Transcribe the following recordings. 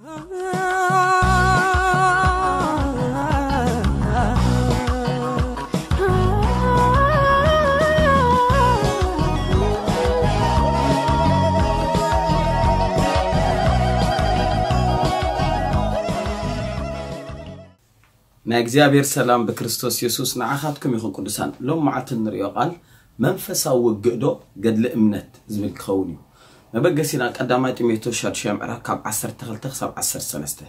ናይ እግዚኣብሔር ሰላም ብክርስቶስ የሱስ ንዓኻትኩም ይኹን። ቅዱሳን፣ ሎም መዓልቲ እንርእዮ ቃል መንፈሳዊ ውግእ ዶ ገድሊ እምነት ዝብል ክኸውን እዩ። መበገሲና ቀዳማይ ጢሞቴዎስ ሻድሻይ ምዕራፍ ካብ ዓሰርተ ክልተ ክሳብ ዓሰርተ ሰለስተ።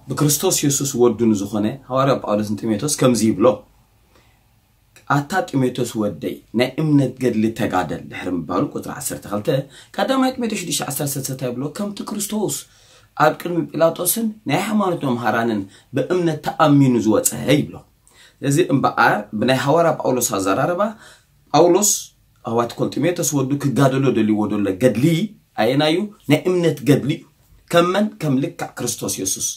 ብክርስቶስ የሱስ ወዱ ንዝኾነ ሃዋርያ ጳውሎስ ንጢሞቴዎስ ከምዚ ይብሎ፣ ኣታ ጢሞቴዎስ ወደይ፣ ናይ እምነት ገድሊ ተጋደል ድሕሪ ምባሉ፣ ቁጽሪ ዓሰርተ ክልተ፣ ቀዳማይ ጢሞቴዎስ ሽዱሽተ ዓሰርተ ሰለስተ እንታይ ይብሎ? ከምቲ ክርስቶስ ኣብ ቅድሚ ጲላጦስን ናይ ሃይማኖት መምሃራንን ብእምነት ተኣሚኑ ዝወጸ ይብሎ። እዚ እምበኣር ብናይ ሃዋርያ ጳውሎስ ኣዘራርባ፣ ጳውሎስ ኣዋት ኮል ጢሞቴዎስ ወዱ ክጋደሎ ደልይዎ ደሎ ገድሊ ኣየናዩ? ናይ እምነት ገድሊ እዩ። ከም መን? ከም ልክዕ ክርስቶስ የሱስ።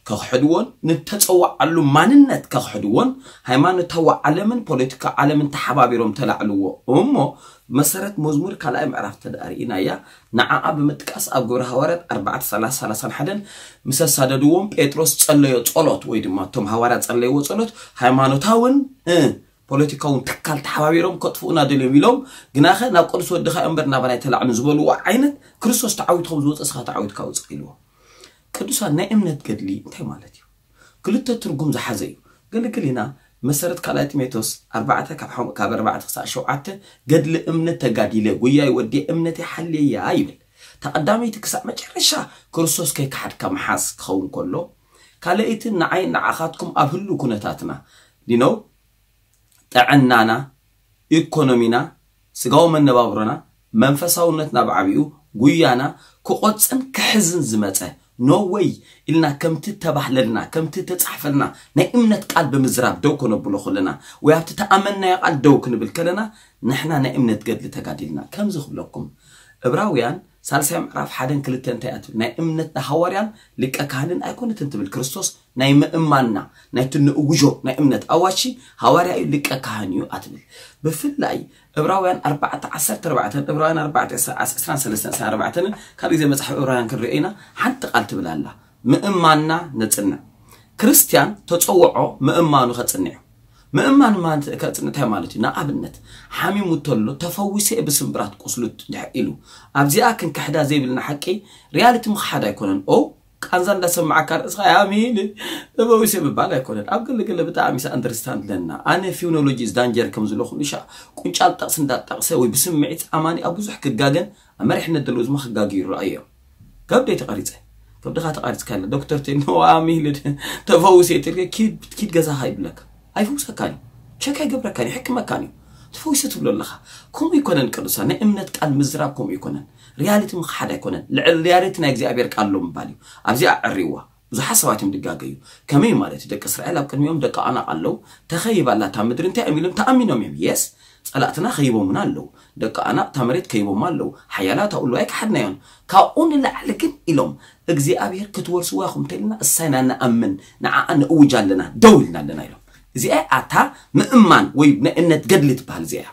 ከኽሕድዎን ንተጸዋዓሉ ማንነት ከኽሕድዎን ሃይማኖታዊ ዓለምን ፖለቲካ ዓለምን ተሓባቢሮም ተላዕልዎ። እሞ መሰረት መዝሙር ካልኣይ ምዕራፍ ተዳርኢናያ፣ ንዓኣ ብምጥቃስ ኣብ ግብረ ሃዋርያት ኣርባዕተ ሰላሳ ሰላሳን ሓደን ምስ ኣሳደድዎም ጴጥሮስ ጸለዮ ጸሎት ወይ ድማ እቶም ሃዋርያት ጸለይዎ ጸሎት ሃይማኖታውን እ ፖለቲካውን ትካል ተሓባቢሮም ከጥፍኡና ደልዮም ኢሎም፣ ግናኸ ናብ ቅዱስ ወድኻ እምበር ናባና ኣይተላዕሉን ዝበልዎ ዓይነት ክርስቶስ ተዓዊትኩም ዝወፀ እስኻ ተዓዊትካ ውፅእ ኢልዎ። ቅዱሳን ናይ እምነት ገድሊ እንታይ ማለት እዩ? ክልተ ትርጉም ዝሓዘ እዩ። ገለገሊና መሰረት ካልኣይ ጢሞቴዎስ ኣርባዕተ ካብ ሓም- ካብ ኣርባዕተ ክሳዕ ሸውዓተ ገድሊ እምነት ተጋዲለ ጉያይ ወዲ እምነተይ ሓልየያ ይብል። ተቐዳመይቲ ክሳዕ መጨረሻ ክርስቶስ ከይከሓድካ ምሓዝ ክኸውን ከሎ፣ ካልኣይቲ ንዓይ ንዓኻትኩም ኣብ ህሉ ኩነታትና ዲነው ጥዕናና፣ ኢኮኖሚና፣ ስጋዊ መነባብሮና፣ መንፈሳውነትና ብዓቢኡ ጉያና ክቆጽን ክሕዝን ዝመጸ no way ኢልና ከምቲ ተባህለልና ከምቲ ተጻሕፈልና ናይ እምነት ቃል ብምዝራብ ደው ከነብሎ ከለና ወይ ኣብቲ ተኣመንናዮ ቃል ደው ክንብል ከለና ንሕና ናይ እምነት ገድሊ ተጋዲልና። ከምዚ ክብለኩም እብራውያን ሳልሳይ ምዕራፍ ሓደን ክልተን እንታይ እያ ትብል? ናይ እምነት ሃዋርያን ሊቀ ካህንን ኣይኮነትን ትብል። ክርስቶስ ናይ ምእማንና ናይቲ ንእውጆ ናይ እምነት ኣዋሺ ሃዋርያ እዩ፣ ሊቀ ካህን እዩ ኣትብል። ብፍላይ እብራውያን ኣርባዕተ ዓሰርተ ኣርባዕተን እብራውያን ኣርባዕተ ዕስራን ሰለስተን ዕስራን ኣርባዕተን ካልእ ግዜ መጽሓፍ እብራውያን ክንሪኦ ኢና። ሓንቲ ቃል ትብል ኣላ፣ ምእማንና ነጽንዕ። ክርስትያን ተጸውዖ ምእማኑ ከጽንዕ እዩ። ምእማን ማለት ከጽንዕ እንታይ ማለት እዩ? ንኣብነት ሓሚሙ እንተሎ ተፈዊሰ ብስምብራት ቁስሉ ድሕ ኢሉ ኣብዚኣ ክንክሕዳ ዘይብልና ሓቂ ሪያሊቲ ምኽሓድ ኣይኮነን። ኦ ቃንዛ እንዳሰማዕካ ርእስኻ ያሚን ተፈዊሰ ምባል ኣይኮነን። ኣብ ገለገለ ብጣዕሚ ኣንደርስታንድ ለና ኣነ ፊውኖሎጂ ዳንጀር ከም ዝለኹ ንሻ ቁንጫል ጠቕሲ እንዳጠቕሰ ወይ ብስምዒት ኣማኒ ኣብ ብዙሕ ክጋገን ኣብ መሪሕነት ዘለዉ ዝማ ክጋግዩ ይረኣዩ እዮም። ከብደይ ተቐሪጸ ከብድኻ ተቐሪጽካ ለ ዶክተር ቴኖ ኣሚልድ ተፈውሰ ትልከ ኪድ ኪድ ገዛኻ ይብለካ። ኣይፈውሰካን እዩ፣ ቸክ ኣይገብረካን እዩ፣ ሕክመካን እዩ። ተፈዊሰ ትብሎ ኣለኻ። ከምኡ ይኮነን ቅዱሳን ናይ እምነት ቃል ምዝራብ ከምኡ ይኮነን። ሪያሊቲ ምኽሓድ ኣይኮነን፣ ልዕሊ ሪያሊቲ ናይ እግዚኣብሔር ቃል ኣሎ ምባል እዩ። ኣብዚኣ ዕሪዋ ብዙሓት ሰባት እዮም ድጋገዩ። ከመይ ማለት እዩ? ደቂ እስራኤል ኣብ ቅድሚኦም ደቂ ኣናቕ ኣለዉ። ተኸይባ ኣላ እታ ምድሪ እንታይ እዮም ኢሎም ተኣሚኖም እዮም። የስ ጸላእትና ከይቦምና ኣለዉ። ደቂ ኣናቕ እታ መሬት ከይቦማ ኣለዉ። ሓያላት ኣውሎ ኣይከሓድናዮን። ካብኡ ንላዕሊ ግን ኢሎም እግዚኣብሔር ክትወርስዋ ኢኹም እንተልና እሳይና ንኣምን ንዓኣ ንእውጅ ኣለና ደው ኢልና ኣለና ኢሎም። እዚኣ ኣታ ምእማን ወይ ናይ እምነት ገድሊ ትበሃል እዚኣ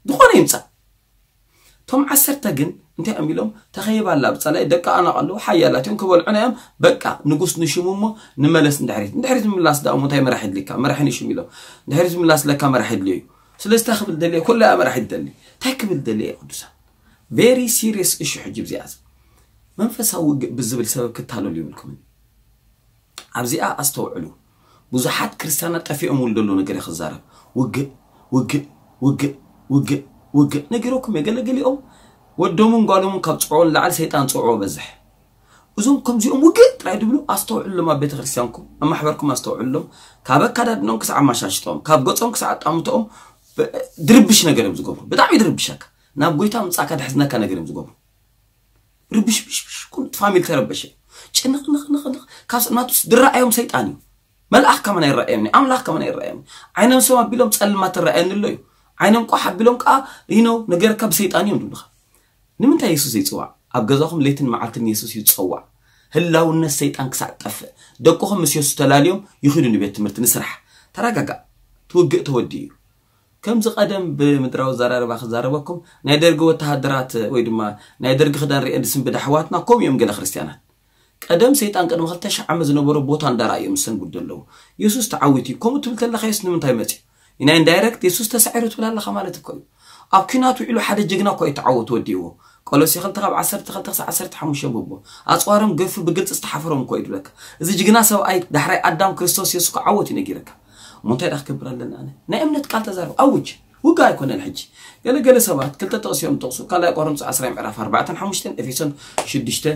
ዝኾነ ይምጻእ። እቶም ዓሰርተ ግን እንታይ እዮም ኢሎም? ተኸይባ ኣላ ብጸላይ ደቂ ኣናቕ ኣለዉ ሓያላት እዮም ክበልዑና እዮም። በቃ ንጉስ ንሽሙ እሞ ንመለስ ንድሕሪት። ንድሕሪት ምምላስ ደኣ እሞ እንታይ መራሒ ድልካ? መራሒ ንሽም ኢሎም ንድሕሪት ምላስ ለካ መራሒ ድልዮ እዩ። ስለዚ እንታይ ክብል ደልየ? ኩላ እያ መራሒ ትደሊ። እንታይ ክብል ደልየ ቅዱሳን? ቬሪ ሲሪየስ እሹ ሕጂ ብዚኣ መንፈሳዊ ውግእ ብዝብል ሰበብ ክታለሉ ይብልኩምን ኣብዚኣ ኣስተውዕሉ። ብዙሓት ክርስትያናት ጠፊኦም ውል ደሎ ነገር ክዛረብ ውግእ ውግእ ውግእ ውግእ ውግእ ነጊሮኩም የገለገሊኦም ወዶምን ጓሎምን ካብ ጽዕዎ ንላዕሊ ሰይጣን ጽዕዎ በዝሕ። እዞም ከምዚኦም ውግእ ጥራይ ድብሉ ኣስተውዕሎም ኣብ ቤተ ክርስቲያንኩም ኣብ ማሕበርኩም ኣስተውዕሎም። ካብ ኣካዳድኖም ክሳዕ ኣማሻሽጦም ካብ ገጾም ክሳዕ ኣጣምቶኦም ድርብሽ ነገር እዮም ዝገብሩ። ብጣዕሚ ድርብሸካ ናብ ጎይታ ምጻእካ ድሕዝነካ ነገር እዮም ዝገብሩ። ርብሽብሽብሽ ኩሉ እቲ ፋሚሊ ተረበሸ። ጭንቕንቕንቕንቕ ካብ ናቱስ ድረኣዮም ሰይጣን እዩ። መልኣኽ ከመን ኣይረኣየኒ ኣምላኽ ከመን ኣይረኣየኒ። ዓይኖም ሰብ ኣቢሎም ጸልማት ትረኣየኒ ኣሎ እዩ። ዓይኖም ቋሕ ኣቢሎም ከዓ ይነው ነገር ካብ ሰይጣን እዮም ዝብልኻ። ንምንታይ የሱስ ዘይፅዋዕ? ኣብ ገዛኹም ለይትን መዓልትን የሱስ እዩ ዝፀዋዕ። ህላውነት ሰይጣን ክሳዕ ጠፍእ ደቅኹም ምስ የሱስ ተላልዮም ይኽዱ ንቤት ትምህርቲ ንስራሕ። ተረጋጋእ። ትውግእ ተወዲ እዩ። ከምዚ ቀደም ብምድራዊ ዘራርባ ክዛረበኩም ናይ ደርጊ ወተሃደራት ወይ ድማ ናይ ደርጊ ክዳን ርኤን ዝስንብድ ኣሕዋትና ከምኡ እዮም ገለ ክርስትያናት። ቀደም ሰይጣን ቅድሚ ክልተ ሺሕ ዓመት ዝነበሮ ቦታ እንዳረኣዩ እዮም ዝሰንብዱ ዘለዉ። የሱስ ተዓዊቱ እዩ። ከምኡ ትብል ተለኻ የሱስ ንምንታይ መጺኡ? ኢና ኢንዳይረክት የሱስ ተሳዒሩ ትብል ኣለኻ ማለት እኮ እዩ። ኣብ ኲናት ውዒሉ ሓደ ጅግና እኮ እዩ ተዓወቱ ወዲእዎ። ቆሎሴ ክልተ ካብ ዓሰርተ ክልተ ክሳብ ዓሰርተ ሓሙሽተ ብቦ። ኣጽዋሮም ገፊሑ ብግልጺ ዝተሓፈሮም እኮ እዩ ዝብለካ። እዚ ጅግና ሰብኣይ ዳሕራይ ኣዳም ክርስቶስ የሱስ ክዓወት እዩ ነጊረካ። እሞ እንታይ ደኣ ክገብር ኣለና ኣነ? ናይ እምነት ቃል ተዛረብ፣ ኣውጅ። ውግእ ኣይኮነን ሕጂ። ገለ ገለ ሰባት ክልተ ጥቕሲ እዮም ዝጠቕሱ። ካልኣይ ቆሮንቶስ ዓስራ ምዕራፍ ኣርባዕተን ሓሙሽተን፣ ኤፌሶን ሽዱሽተ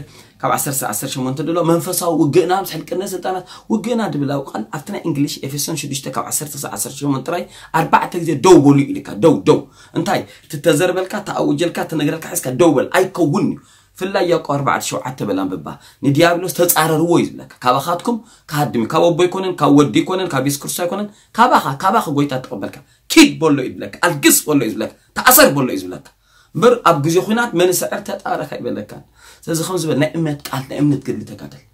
ካብ ዓሰርተ ዓሰርተ ሸሞንተ ድሎ መንፈሳዊ ውግእና ምስ ሕልቅነት ስልጣናት ውግእና ድብል ኣብ ቃል ኣብቲ ናይ እንግሊሽ ኤፌሶን ሽዱሽተ ካብ ዓሰርተ ክሳብ ዓሰርተ ሸሞንተ ጥራይ ኣርባዕተ ግዜ ደው በሉ ኢልካ። ደው ደው። እንታይ? ትተዘርበልካ፣ ተኣውጀልካ፣ ትነግረልካ ሒዝካ ደው በል። ኣይከውን እዩ። ፍላይ ያዕቆብ ኣርባዕተ ሸውዓተ በል ኣንብባ። ንዲያብሎስ ተጻረርዎ እዩ ዝብለካ። ካባኻትኩም ክሃድም እዩ። ካብ ኣቦ ኣይኮነን፣ ካብ ወዲ ኣይኮነን፣ ካብ የሱስ ክርስቶስ ኣይኮነን። ካባኻ፣ ካባኺ ጎይታ ተቐበልካ። ኪድ በሎ እዩ ዝብለካ። ኣልግስ በሎ እዩ ዝብለካ። ተኣሰር በሎ እዩ ዝብለካ። እምበር ኣብ ግዜ ኹናት መን ይስዕር ተጣረካ ይበለካን። ስለዚ ከም ዝበል ናይ እምነት ቃል፣ ናይ እምነት ገድሊ ተጋደል።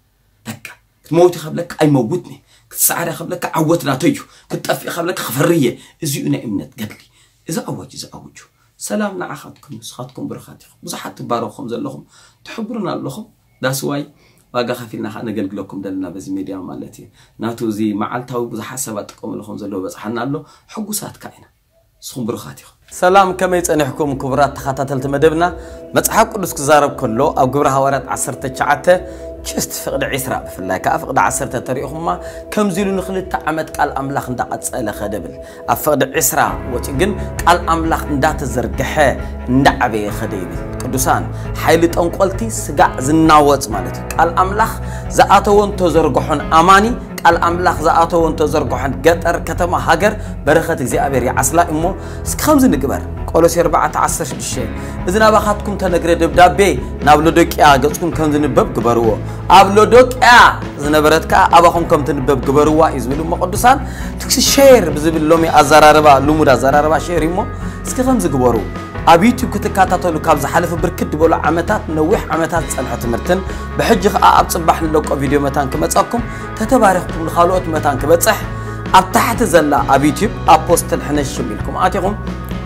በቃ ክትመውት ከብለካ ኣይመውትኒ፣ ክትሰዓር ከብለካ ዓወት ናተይ እዩ፣ ክትጠፍእ ከብለካ ክፈርየ። እዚኡ ናይ እምነት ገድሊ። እዚ ኣዋጅ እዚ ኣውጁ። ሰላም ንዓኻትኩም፣ ንስኻትኩም ብሩኻት ኢኹም። ብዙሓት ትባረኹ ከም ዘለኹም ትሕብሩና ኣለኹም። ዳስዋይ ዋጋ ከፊልና ከዓ ነገልግለኩም ዘለና በዚ ሜድያ ማለት እዩ። ናቱ እዚ መዓልታዊ ብዙሓት ሰባት ጥቀምሉ ከም ዘለዉ በፅሓና ኣሎ። ሕጉሳት ከዓ ኢና። ንስኹም ብሩኻት ኢኹም። ሰላም፣ ከመይ ጸኒሕኩም ክቡራት ተኸታተልቲ መደብና? መጽሓፍ ቅዱስ ክዛረብ ከሎ ኣብ ግብረ ሃዋርያት ዓሰርተ ትሽዓተ ችስት ፍቕዲ ዒስራ ብፍላይ ከኣ ፍቕዲ ዓሰርተ ተሪእኹማ ከምዚ ኢሉ ንኽልተ ዓመት ቃል ኣምላኽ እንዳቐጸለ ኸደ ብል። ኣብ ፍቕዲ ዒስራ ወጺኡ ግን ቃል ኣምላኽ እንዳተዘርግሐ እንዳዓበየ ኸደ ይብል። ቅዱሳን፣ ሓይሊ ጠንቆልቲ ስጋዕ ዝናወጽ ማለት እዩ። ቃል ኣምላኽ ዝኣተወን ተዘርግሖን ኣማኒ ቃል ኣምላኽ ዝኣተወን ተዘርግሖን ገጠር ከተማ ሃገር በረኸት እግዚኣብሔር ይዓስላ እሞ እስኪ ከምዚ ንግበር። ቆሎሴ ኣርባዕተ ዓሰርተ ሽዱሽተ እዚ ናባኻትኩም ተነግረ ደብዳቤ ናብ ሎዶቅያ ገጽኩም ከም ዝንበብ ግበርዎ። ኣብ ሎዶቅያ ዝነበረት ከኣ ኣባኹም ከም ትንበብ ግበርዋ እዩ ዝብል እሞ ቅዱሳን ትኩሲ ሼር ብዝብል ሎሚ ኣዘራርባ ልሙድ ኣዘራርባ ሼር እዩ እሞ እስኪ ከምዚ ግበሩ። ኣብ ዩቱብ ክትከታተሉ ካብ ዝሓለፈ ብርክት ዝበሉ ዓመታት ነዊሕ ዓመታት ዝጸንሐ ትምህርትን ብሕጂ ከኣ ኣብ ጽባሕ ንለቆ ቪድዮ መታን ክመጸኩም ተተባሪኽኩም ንኻልኦት መታን ክበጽሕ ኣብ ታሕቲ ዘላ ኣብ ዩቱብ ኣፖስትል ሕነሽም ኢልኩም ኣቲኹም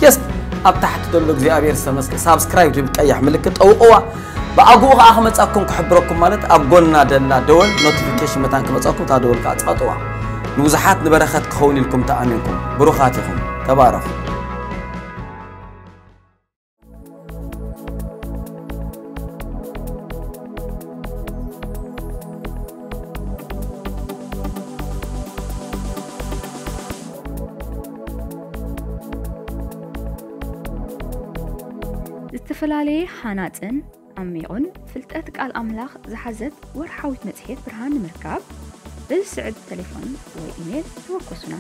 ጀስት ኣብ ታሕቲ ዘሎ እግዚኣብሔር ዝተመስገ ሳብስክራይብ ትብል ቀያሕ ምልክት ጠውቕዋ። ብኣግኡ ከኣ ክመጻኩም ክሕብረኩም ማለት ኣብ ጎና ደላ ደወል ኖቲፊኬሽን መታን ክመጻኩም እታ ደወል ከኣ ጻጥዋ። ንብዙሓት ንበረኸት ክኸውን ኢልኩም ተኣሚንኩም ብሩኻት ኢኹም። ተባረኹ። ዝተፈላለየ ሃናጽን ዓሚቑን ፍልጠት ቃል ኣምላኽ ዝሓዘት ወርሓዊት መጽሔት ብርሃን ንምርካብ በዚ ስዕብ ተሌፎን ወይ ኢሜል ተወከሱና።